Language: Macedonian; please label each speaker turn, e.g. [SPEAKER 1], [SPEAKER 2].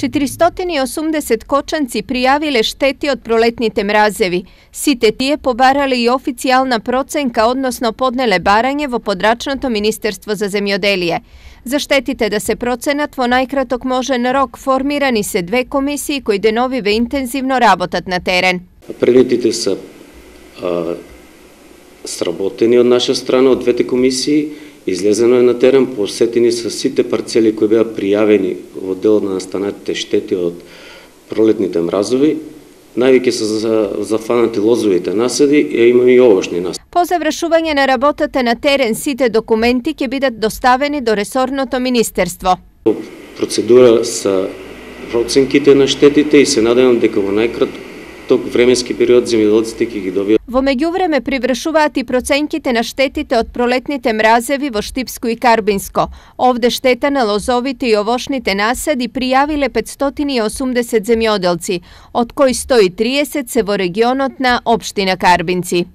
[SPEAKER 1] 480 кочанци пријавиле штети од пролетните мразеви. Сите тие побарале и официјална проценка, односно поднеле барање во подрачното Министерство за земјоделие. За штетите да се проценат во најкраток можен рок, формирани се 2 комисии кои деновиве интензивно работат на терен.
[SPEAKER 2] Пренетите се сработени од наша страна, од двете комисии, излезено е на терен, посетени се сите парцели кои беа пријавени во делот на настанатите штети од пролетните мразови. Највеќе се зафанати лозовите насади и имаме и овошни насади.
[SPEAKER 1] По завршување на работата на терен, сите документи ќе бидат доставени до ресорното министерство.
[SPEAKER 2] Процедура са проценките на штетите и се надевам дека во најкраток временски период земјоделците ќе ги добијат.
[SPEAKER 1] Во меѓувреме привршуваат и проценките на штетите од пролетните мразеви во Штипско и Карбинско. Овде штета на лозовите и овошните насади пријавиле 580 земјоделци, од кои 130 се во регионот на општина Карбинци.